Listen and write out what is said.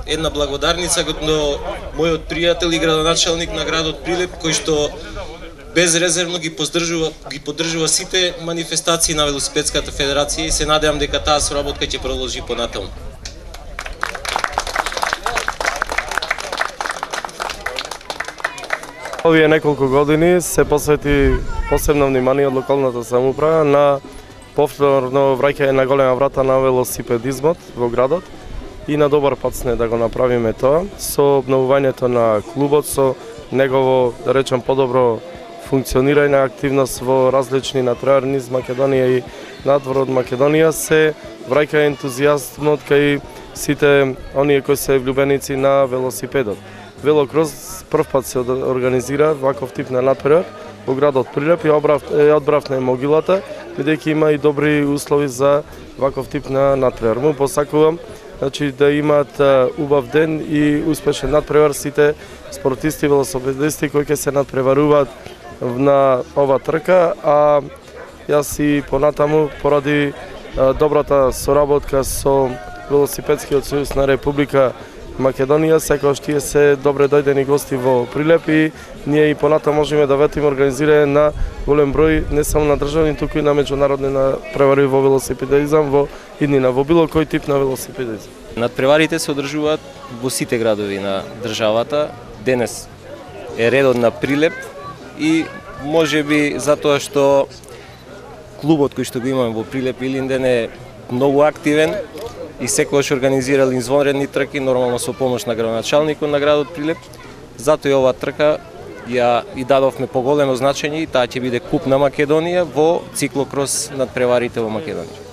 една благодарница до мојот пријател и градоначалник на градот Прилеп, кој што безрезервно ги поддржува сите манифестации на Велосипедската федерација и се надевам дека таа соработка ќе продолжи понатаму. Овие неколку години се посвети посебно внимание од локалната самоуправа на повторно враќање на голема врата на велосипедизмот во градот и на добар пат сме да го направиме тоа со обновувањето на клубот, со негово, да речем, подобро функционирање, активност во различни натпревари низ Македонија и надвор од Македонија, се враќа ентузијазмот кај сите оние кои се влюбеници на велосипедот. Велокрос прв пат се организира ваков тип на натпревар во градот Прилеп и одбравме могилата, бидејќи има и добри услови за ваков тип на натпревар. Му посакувам да имаат убав ден и успешен натпревар сите спортисти и велосипедисти кои ќе се натпреваруваат на ова трка, а јас и понатаму поради добрата соработка со Велосипедскиот сојуз на Република Македонија, секогаш тие се добре дојдени гости во Прилеп и ние и понатаму можеме да ветиме организирање на голем број не само на државни, туку и на меѓународни натпревари во велосипедизам во иднина, во било кој тип на велосипедизам. Натпреварите се одржуваат во сите градови на државата. Денес е редот на Прилеп и можеби затоа што клубот кој што го имаме во Прилеп Илинден е многу активен и секогаш организирал извонредни трки, нормално со помош на градоначалникот на градот Прилеп. Затоа и оваа трка ја и дадовме поголемо значење и таа ќе биде Куп на Македонија во циклокрос надпреварите во Македонија.